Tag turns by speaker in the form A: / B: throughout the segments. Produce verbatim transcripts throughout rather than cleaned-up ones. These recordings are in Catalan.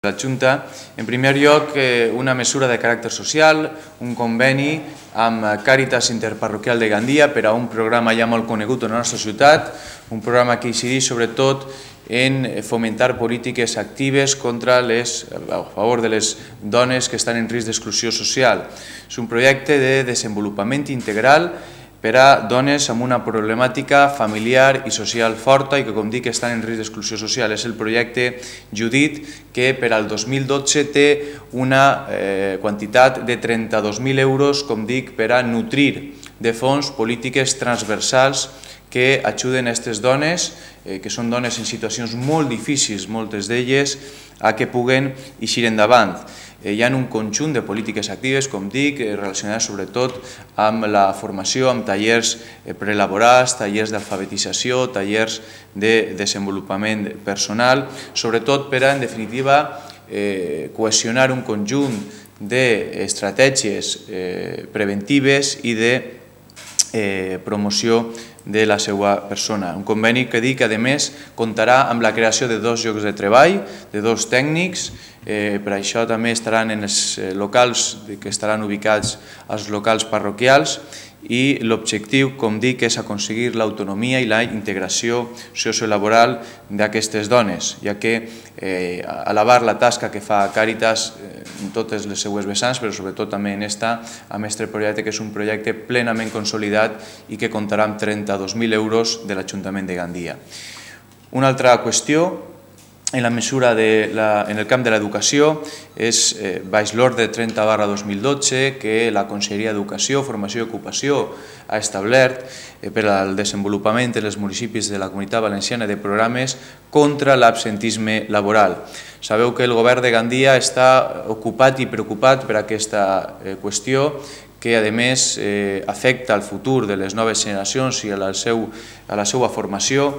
A: La Junta, en primer lloc, una mesura de caràcter social, un conveni amb Càritas Interparroquial de Gandia per a un programa ja molt conegut en la nostra ciutat, un programa que incideix sobretot en fomentar polítiques actives contra les, a favor de les dones que estan en risc d'exclusió social. És un projecte de desenvolupament integral per a dones amb una problemàtica familiar i social forta i que, com dic, estan en risc d'exclusió social. És el projecte Judit, que per al dos mil dotze té una eh, quantitat de trenta-dos mil euros, com dic, per a nutrir de fons polítiques transversals que ajuden a aquestes dones, eh, que són dones en situacions molt difícils, moltes d'elles, a que puguen eixir endavant. Hi ha un conjunt de polítiques actives, com dic, relacionades sobretot amb la formació, amb tallers prelaborals, tallers d'alfabetització, tallers de desenvolupament personal, sobretot per a, en definitiva, cohesionar un conjunt d'estratègies preventives i de promoció de la seva persona. Un conveni que dic que, a més, comptarà amb la creació de dos llocs de treball, de dos tècnics. Per això també estaran en els locals que estaran ubicats als locals parroquials i l'objectiu, com dic, és aconseguir l'autonomia i la integració sociolaboral d'aquestes dones, ja que alabar la tasca que fa Càritas en totes les seues vessants, però sobretot també en esta, amb aquest projecte, que és un projecte plenament consolidat i que comptarà amb trenta-dos mil euros de l'Ajuntament de Gandia. Una altra qüestió, en la mesura de la, en el camp de l'educació, és eh, baix l'ordre trenta barra dos mil dotze que la Conselleria d'Educació, Formació i Ocupació ha establert eh, per al desenvolupament en els municipis de la Comunitat Valenciana de programes contra l'absentisme laboral. Sabeu que el govern de Gandia està ocupat i preocupat per aquesta eh, qüestió, que a més eh, afecta el futur de les noves generacions i a la, seu, a la seva formació.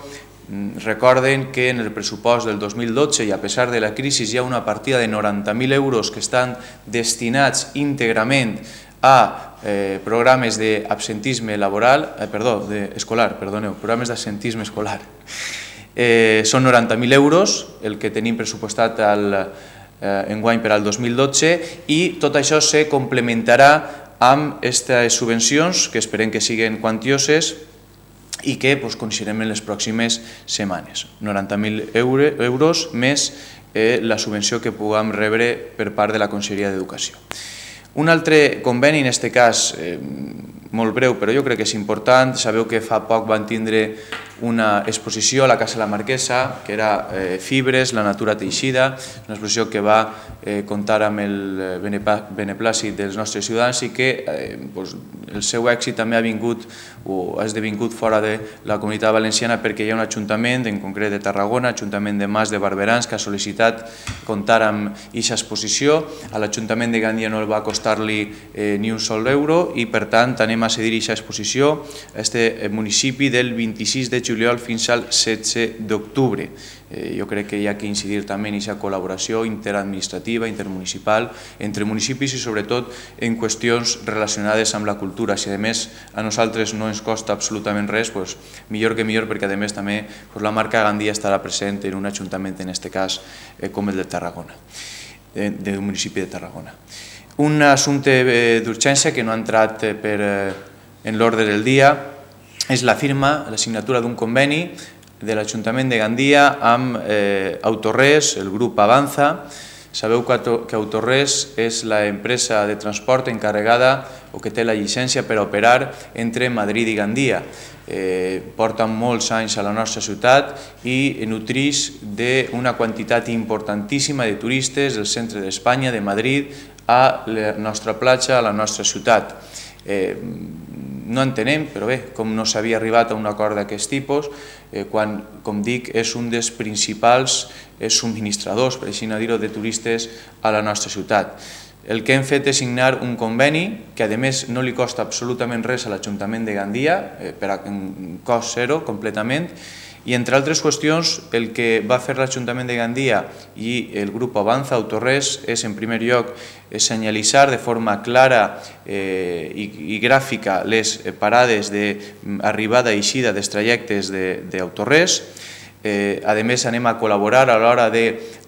A: Recorden que en el pressupost del dos mil dotze, i a pesar de la crisi, hi ha una partida de noranta mil euros que estan destinats íntegrament a eh, programes d'absentisme laboral, eh, perdó, de, escolar, perdoneu, programes d'absentisme escolar. Eh, són noranta mil euros el que tenim pressupostat al, eh, enguany per al dos mil dotze i tot això se complementarà amb aquestes subvencions que esperem que siguin quantioses i que pues, coneixerem en les pròximes setmanes. noranta mil euros més eh, la subvenció que puguem rebre per part de la Conselleria d'Educació. Un altre conveni, en aquest cas eh, molt breu, però jo crec que és important. Sabeu que fa poc van tindre una exposició a la Casa de la Marquesa, que era eh, Fibres, la natura teixida, una exposició que va eh, comptar amb el beneplàcit dels nostres ciutadans i que eh, pues, el seu èxit també ha vingut o ha esdevingut fora de la Comunitat Valenciana perquè hi ha un ajuntament, en concret de Tarragona, Ajuntament de Mas de Barberans, que ha sol·licitat comptar amb aquesta exposició. A l'Ajuntament de Gandia no va costar-li eh, ni un sol euro i, per tant, anem a cedir aquesta exposició a aquest municipi del vint-i-sis de juliol fins al setze d'octubre. Eh, jo crec que hi ha que incidir també en aquesta col·laboració interadministrativa, intermunicipal, entre municipis i sobretot en qüestions relacionades amb la cultura. Si a més a nosaltres no ens costa absolutament res, doncs, millor que millor, perquè a més també doncs, la marca Gandia estarà present en un ajuntament, en aquest cas eh, com el de Tarragona, de, del municipi de Tarragona. Un assumpte eh, d'urgència que no ha entrat eh, per, eh, en l'ordre del dia és la firma, la signatura d'un conveni de l'Ajuntament de Gandia amb eh, Autores, el grup Avanza. Sabeu que Autores és l'empresa de transport encarregada o que té la llicència per operar entre Madrid i Gandia. Eh, porten molts anys a la nostra ciutat i nutreix d'una quantitat importantíssima de turistes del centre d'Espanya, de Madrid, a la nostra platja, a la nostra ciutat. Eh, no entenem, però bé, com no s'havia arribat a un acord d'aquest tipus, eh, quan, com dic, és un dels principals eh, subministradors, per així dir-ho, de turistes a la nostra ciutat. El que hem fet és signar un conveni que, a més, no li costa absolutament res a l'Ajuntament de Gandia, eh, per a un cost zero, completament, i, entre altres qüestions, el que va fer l'Ajuntament de Gandia i el grup Avanza Autores és, en primer lloc, senyalitzar de forma clara eh, i, i gràfica les parades d'arribada i eixida dels trajectes d'Autores. A més, anem a col·laborar a l'hora de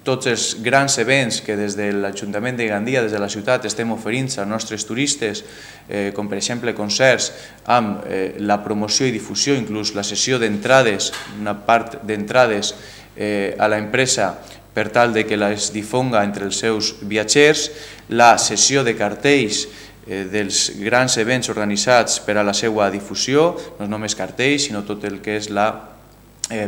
A: tots els grans events que des de l'Ajuntament de Gandia, des de la ciutat, estem oferint als nostres turistes, com per exemple concerts, amb la promoció i difusió, inclús la sessió d'entrades, una part d'entrades a l'empresa per tal que les difonga entre els seus viatgers, la sessió de cartells dels grans events organitzats per a la seva difusió, no només cartells, sinó tot el que és la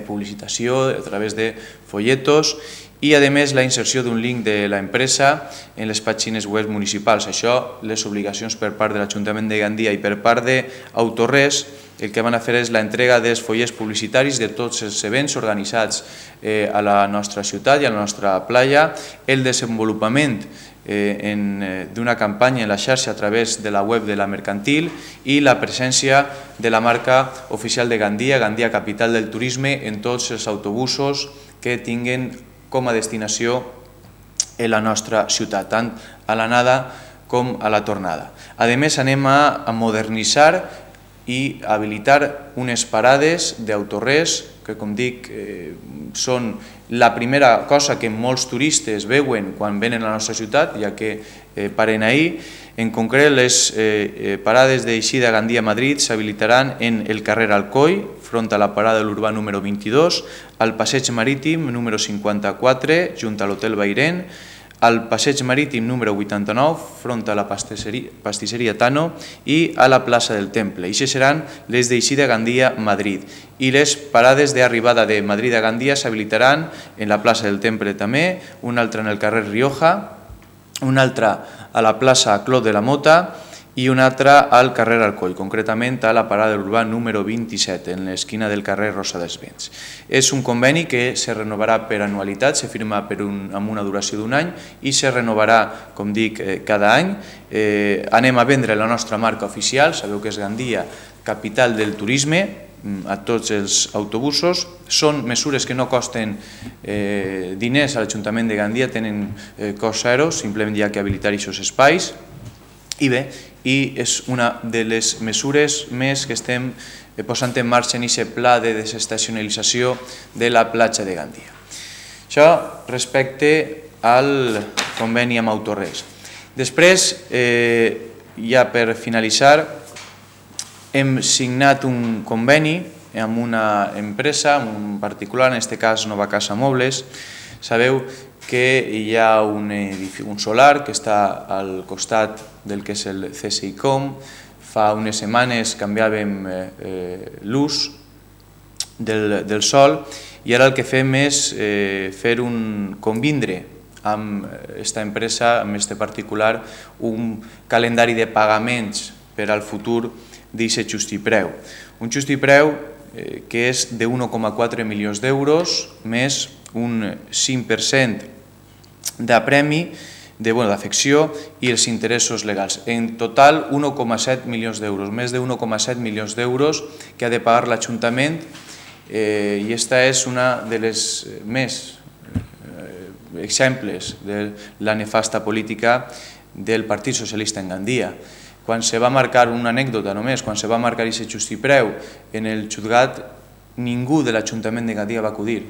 A: publicitació a través de folletos i, a més, la inserció d'un link de l'empresa en les pàgines web municipals. Això, les obligacions per part de l'Ajuntament de Gandia i per part d'Autorres, el que van a fer és l'entrega dels follets publicitaris de tots els events organitzats a la nostra ciutat i a la nostra platja, el desenvolupament d'una campanya en la xarxa a través de la web de la mercantil i la presència de la marca oficial de Gandia, Gandia Capital del Turisme, en tots els autobusos que tinguen com a destinació a la nostra ciutat, tant a l'anada com a la tornada. A més, anem a modernitzar i habilitar unes parades d'Autorres que, com dic, són la primera cosa que molts turistes veuen quan venen a la nostra ciutat, ja que paren ahir. En concret, les parades d'eixida Gandia-Madrid s'habilitaran en el carrer Alcoi, front a la parada de l'Urbà número vint-i-dos, al passeig marítim número cinquanta-quatre, junt a l'Hotel Bairén, al passeig marítim número vuitanta-nou, front a la pastisseria Tano, i a la plaça del Temple. Ixes seran les d'eixida Gandia-Madrid. I les parades d'arribada de Madrid a Gandia s'habilitaran en la plaça del Temple també, una altra en el carrer Rioja, una altra a la plaça Clot de la Mota i una altra al carrer Alcoi, concretament a la parada de l'Urbà número vint-i-set, en l'esquina del carrer Rosa dels Vents. És un conveni que se renovarà per anualitat, se firma amb una duració d'un any i se renovarà, com dic, cada any. Anem a vendre la nostra marca oficial, sabeu que és Gandia, capital del turisme, a tots els autobusos. Són mesures que no costen diners a l'Ajuntament de Gandia, tenen cost zero, simplement hi ha que habilitar aquests espais. I bé, i és una de les mesures més que estem posant en marxa en aquest pla de desestacionalització de la platja de Gandia. Això respecte al conveni amb Autorres. Després, ja per finalitzar, hem signat un conveni amb una empresa, un particular, en aquest cas Nova Casa Mobles. Sabeu que hi ha un solar que està al costat del que és el C S I Com. Fa unes setmanes canviàvem l'ús del sol i ara el que fem és fer un convindre amb aquesta empresa, amb aquest particular, un calendari de pagaments per al futur d'aquest justipreu. Un justipreu que és d'un coma quatre milions d'euros més un cinc per cent de premi, d'afecció i els interessos legals. En total, un coma set milions d'euros, més d'un coma set milions d'euros que ha de pagar l'Ajuntament, i aquesta és una de les més exemples de la nefasta política del Partit Socialista en Gandia. Quan se va marcar una anècdota només, quan se va marcar aquest justipreu en el jutjat, ningú de l'Ajuntament de Gandia va acudir,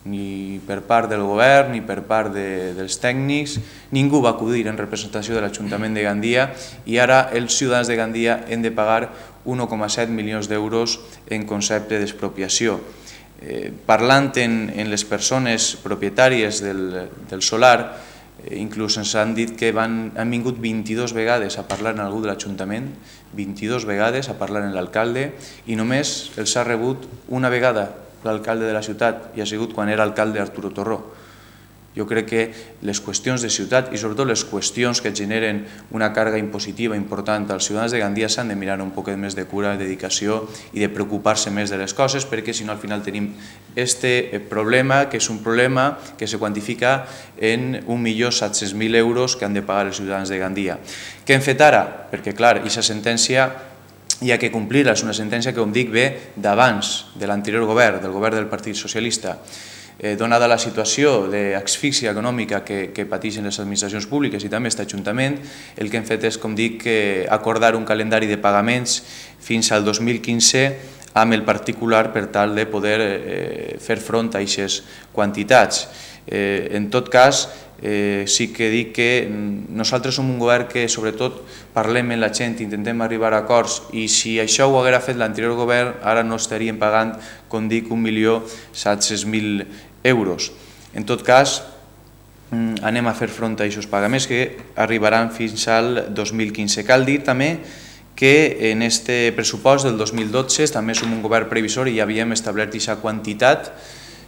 A: ni per part del govern, ni per part dels tècnics, ningú va acudir en representació de l'Ajuntament de Gandia i ara els ciutadans de Gandia han de pagar un coma set milions d'euros en concepte d'expropiació. Parlant en les persones propietàries del solar, inclús ens han dit que han vingut vint-i-dues vegades a parlar amb algú de l'Ajuntament, vint-i-dues vegades a parlar amb l'alcalde, i només els ha rebut una vegada l'alcalde de la ciutat, i ha sigut quan era alcalde Arturo Torró. Jo crec que les qüestions de ciutat i sobretot les qüestions que generen una càrrega impositiva important als ciutadans de Gandia s'han de mirar un poc més de cura, de dedicació i de preocupar-se més de les coses, perquè si no al final tenim aquest problema, que és un problema que se quantifica en un milió set-cents mil euros que han de pagar els ciutadans de Gandia. Què hem fet ara? Perquè clar, aquesta sentència hi ha que complir-la, és una sentència que, com dic, ve d'abans de l'anterior govern, del govern del Partit Socialista. Donada la situació d'asfíxia econòmica que pateixen les administracions públiques i també aquest Ajuntament, el que hem fet és, com dic, acordar un calendari de pagaments fins al dos mil quinze amb el particular per tal de poder eh, fer front a aquestes quantitats. Eh, en tot cas, eh, sí que dic que nosaltres som un govern que sobretot parlem amb la gent, intentem arribar a acords, i si això ho haguera fet l'anterior govern, ara no estaríem pagant, com dic, un milió set-cents mil euros. En tot cas, anem a fer front a aquests pagaments que arribaran fins al dos mil quinze. Cal dir també que en aquest pressupost del dos mil dotze també som un govern previsor i ja havíem establert aquesta quantitat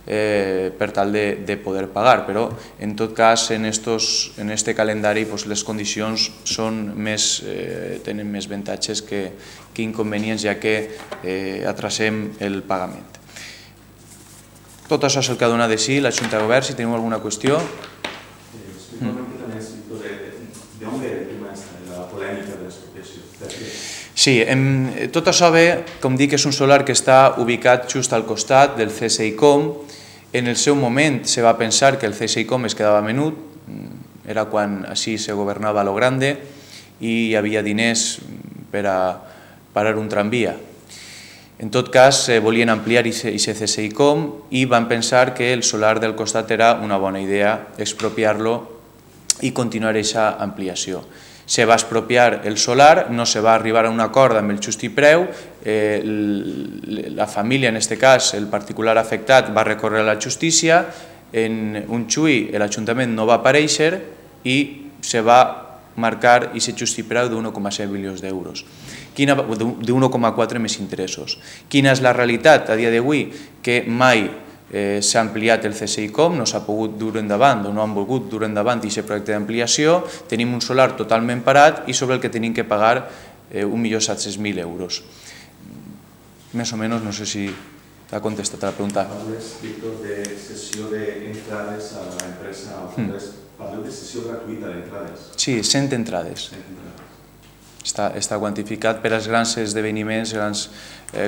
A: per tal de poder pagar, però en tot cas en aquest calendari les condicions tenen més avantatges que inconvenients, ja que atrasem el pagament. Tot això és el que ha donat de si la Junta de Govern. Si teniu alguna qüestió... Sí, tot això ve, com dic, és un solar que està ubicat just al costat del C S I C O M. En el seu moment se va pensar que el C S I C O M es quedava menut, era quan així se governava a lo grande i hi havia diners per a parar un tramvia. En tot cas, volien ampliar aquest C S I C O M i van pensar que el solar del costat era una bona idea, expropiar-lo i continuar aquesta ampliació. Se va expropiar el solar, no se va arribar a un acord amb el justi preu, la família, en aquest cas, el particular afectat, va recórrer a la justícia, en un xui l'Ajuntament no va aparèixer i se va marcar aquest justi preu d'un coma set milions d'euros, d'un coma quatre més interessos. Quina és la realitat a dia d'avui? Que mai s'ha ampliat el C S I C O M, no s'ha pogut dur endavant o no han volgut dur endavant aquest projecte d'ampliació, tenim un solar totalment parat i sobre el que tenim que pagar un milió set-cents mil euros. Més o menys, no sé si t'ha contestat a la pregunta.
B: Parles, Víctor, de cessió d'entrades a l'empresa, parleu de cessió gratuïta d'entrades?
A: Sí, cent entrades. Està quantificat per als grans esdeveniments, grans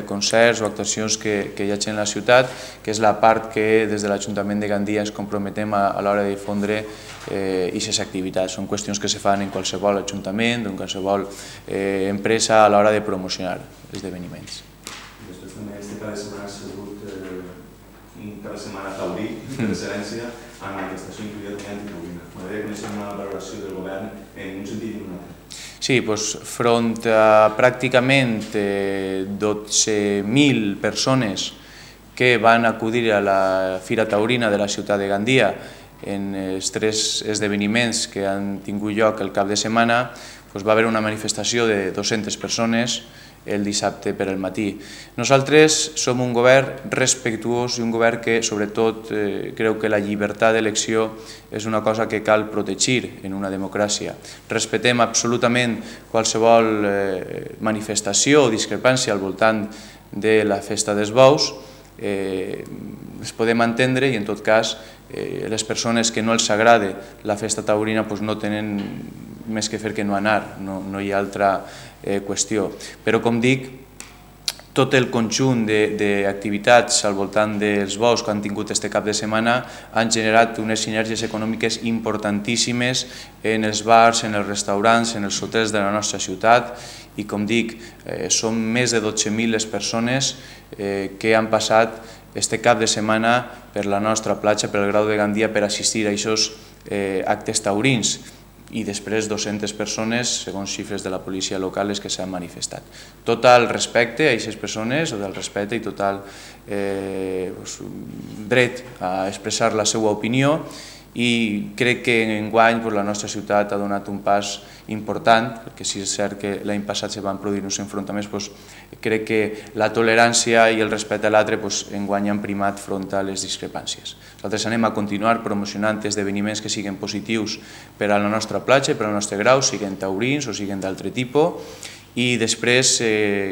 A: concerts o actuacions que hi hagi en la ciutat, que és la part que des de l'Ajuntament de Gandia ens comprometem a l'hora de difondre aquestes activitats. Són qüestions que se fan en qualsevol ajuntament, en qualsevol empresa a l'hora de promocionar esdeveniments.
B: Després també este cada setmana ha sigut un cada setmana taurí d'excel·lència amb l'estació incluïda també antitaurina. M'agradaria conèixer una valoració del govern en un sentit i en un altre.
A: Sí, front a pràcticament dotze mil persones que van acudir a la Fira Taurina de la ciutat de Gandia en els tres esdeveniments que han tingut lloc el cap de setmana, va haver una manifestació de dues-centes persones el dissabte per al matí. Nosaltres som un govern respectuós i un govern que, sobretot, creu que la llibertat d'elecció és una cosa que cal protegir en una democràcia. Respetem absolutament qualsevol manifestació o discrepància al voltant de la festa dels bous, es podem entendre i, en tot cas, les persones que no els agrada la festa taurina no tenen més que fer que no anar, no hi ha altra qüestió. Però, com dic, tot el conjunt d'activitats al voltant dels bous que han tingut aquest cap de setmana han generat unes sinergies econòmiques importantíssimes en els bars, en els restaurants, en els hotels de la nostra ciutat i, com dic, són més de dotze mil les persones que han passat aquest cap de setmana per la nostra platja, per el Grau de Gandia, per assistir a aquests actes taurins. I després dues-centes persones, segons xifres de la policia local, que s'han manifestat. Total respecte a aquestes persones, total respecte i total dret a expressar la seva opinió, i crec que enguany la nostra ciutat ha donat un pas important, perquè si és cert que l'any passat se van produir uns enfrontaments, crec que la tolerància i el respecte a l'altre enguany han primat front a les discrepàncies. Nosaltres anem a continuar promocionant esdeveniments que siguin positius per a la nostra platja, per al nostre grau, siguin taurins o siguin d'altre tipus, i després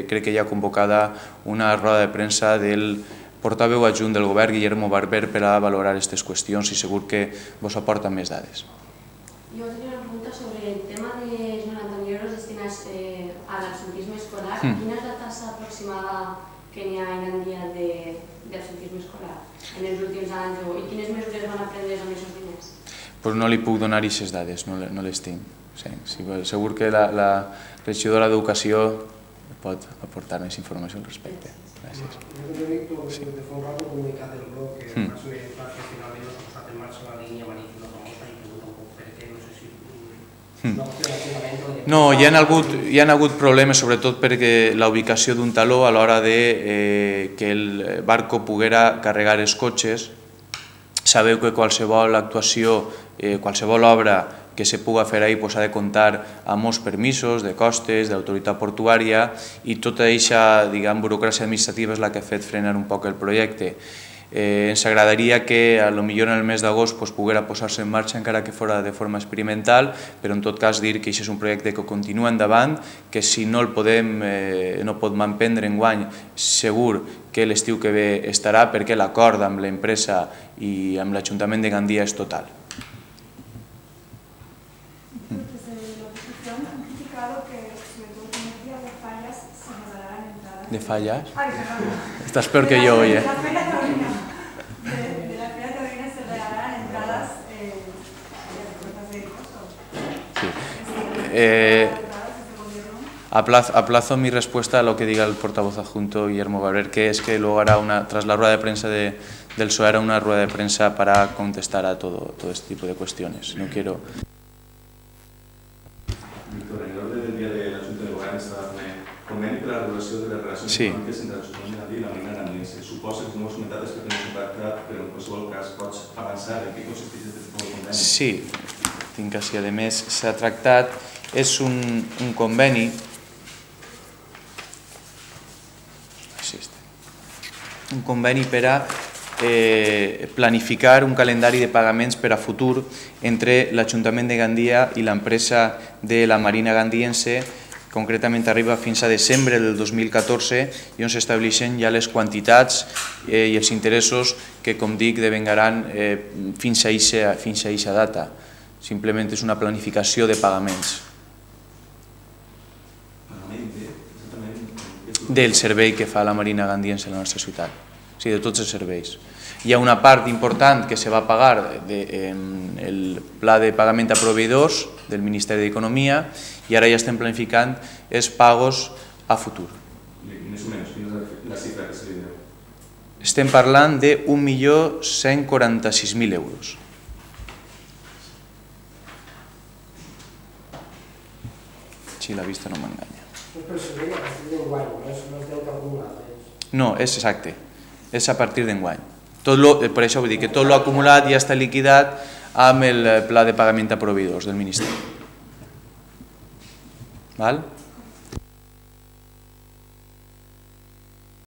A: crec que hi ha convocada una roda de premsa del portaveu adjunt del govern, Guillermo Barber, per a valorar aquestes qüestions i segur que vos aporta més dades.
C: Jo tenia una pregunta sobre el tema de noranta mil euros destinats a l'absentisme escolar. Quina és la tassa aproximada que n'hi ha en Gandia d'absentisme escolar en els últims anys i quines mesures van a prendre amb aquests diners?
A: Doncs no li puc donar aquestes dades, no les tinc. Segur que la regidora d'Educació pot aportar més informació al respecte. Gràcies.
D: Jo he dit de fa un rato comunicat del bloc que el Maxime Pla que finalment no s'ha posat en marxa la línia marítima famosa i pregunta un poc per què, no sé si...
A: No, hi ha hagut, hi ha hagut problemes sobretot perquè la ubicació d'un taló a l'hora de eh, que el barco poguera carregar els cotxes. Sabeu que qualsevol actuació, eh, qualsevol obra que se puga fer ahí pues, ha de comptar amb molts permisos de costes, d'autoritat portuària i tota aquesta burocràcia administrativa és la que ha fet frenar un poc el projecte. Eh, ens agradaria que a lo millor en el mes d'agost pues, poguera posar-se en marxa encara que fora de forma experimental, però en tot cas dir que això és un projecte que continua endavant, que si no el podem, eh, no pot manprendre enguany, segur que l'estiu que ve estarà perquè l'acord amb l'empresa i amb l'Ajuntament de Gandia és total. ¿De fallas?
E: Ay, perdón.
A: Estás peor que yo hoy, ¿eh?
E: De la Feria Taurina. De, de la Feria Taurina se regalarán entradas eh, de puertas de costo.
A: Sí. Eh, aplazo, aplazo mi respuesta a lo que diga el portavoz adjunto Guillermo Barber, que es que luego hará una, tras la rueda de prensa de, del P S O E, hará una rueda de prensa para contestar a todo, todo este tipo de cuestiones. No quiero...
B: Víctor, en l'ordre del dia de la Junta de Govern estava fent conveni per a la regulació de les relacions
A: sí.
B: econòmiques entre l'Ajuntament de Gandia i la Marina Gandiense. Suposa que, com heu comentat, és perquè no s'ha tractat, però en qualsevol cas pots avançar en què consisteix aquest tipus de conveni?
A: Sí, tinc així, a més s'ha tractat, és un, un conveni, un conveni per a eh, planificar un calendari de pagaments per a futur entre l'Ajuntament de Gandia i l'empresa de la Marina Gandiense. Concretament arriba fins a desembre del dos mil catorze i on s'estableixen ja les quantitats eh, i els interessos que, com dic, devengaran eh, fins a aquesta data. Simplement és una planificació de pagaments. Del servei que fa la Marina Gandiense a la nostra ciutat, o sigui, de tots els serveis. Hi ha una part important que se va pagar en el pla de pagament a proveïdors del Ministeri d'Economia i ara ja estem planificant els pagos a futur.
B: Més o menys, quina és la xifra que se li deu?
A: Estem parlant d'un milió cent quaranta-sis mil euros. Si la vista no m'enganya.
D: Però seria a partir d'enguany, no és el deute acumulat.
A: No, és exacte, és a partir d'enguany. Per això vull dir que tot l'acumulat ja està liquidat amb el pla de pagament a proveïdors del Ministeri. Val?